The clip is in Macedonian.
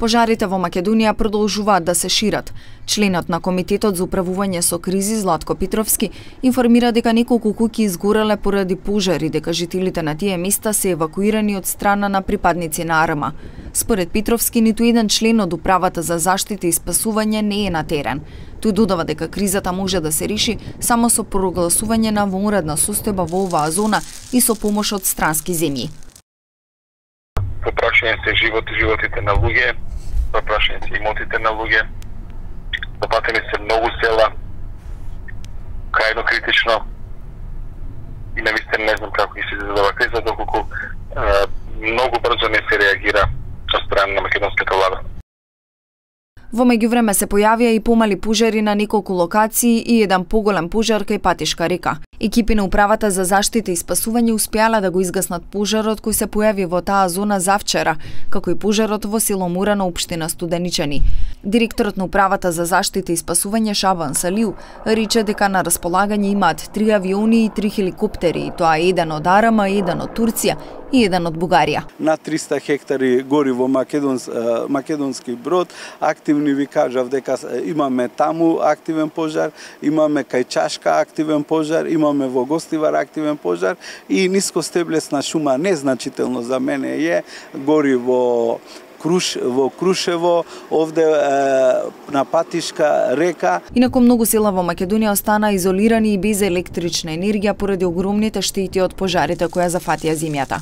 Пожарите во Македонија продолжуваат да се шират. Членот на Комитетот за управување со кризи Златко Петровски информира дека неколку куќи изгореле поради пожари, дека жителите на тие места се евакуирани од страна на припадници на АРМА. Според Петровски, ниту еден член од Управата за заштита и спасување не е на терен. Тој додава дека кризата може да се реши само со прогласување на вонредна состојба во оваа зона и со помош од странски земји. Запрашање се животите на луѓе, запрашање се имотите на луѓе, запатени се многу села, крајно критично и навистина не знам како ќе се изгледа криза, доколку многу брзо не се реагира од страна на македонската влада. Во меѓувреме се појавија и помали пожари на неколку локации и еден поголем пожар кај Патишка река. Екипи на Управата за заштита и спасување успеале да го изгаснат пожарот кој се појави во таа зона завчера, како и пожарот во село Мура на општина Студеничани. Директорот на Управата за заштита и спасување Шабан Салиу рече дека на располагање имаат 3 авиони и 3 хеликоптери, тоа е еден од АРМА, еден од Турција и еден од Бугарија. На 300 хектари гори во македонски брод, активни ви кажав дека имаме таму активен пожар, имаме кај Чашка активен пожар, имаме во Гостивар активен пожар и нискостеблесна шума незначително за мене е гори во Крушево, овде на Патишка река. Инаку многу села во Македонија остана изолирани и без електрична енергија поради огромните штети од пожарите која зафатија земјата.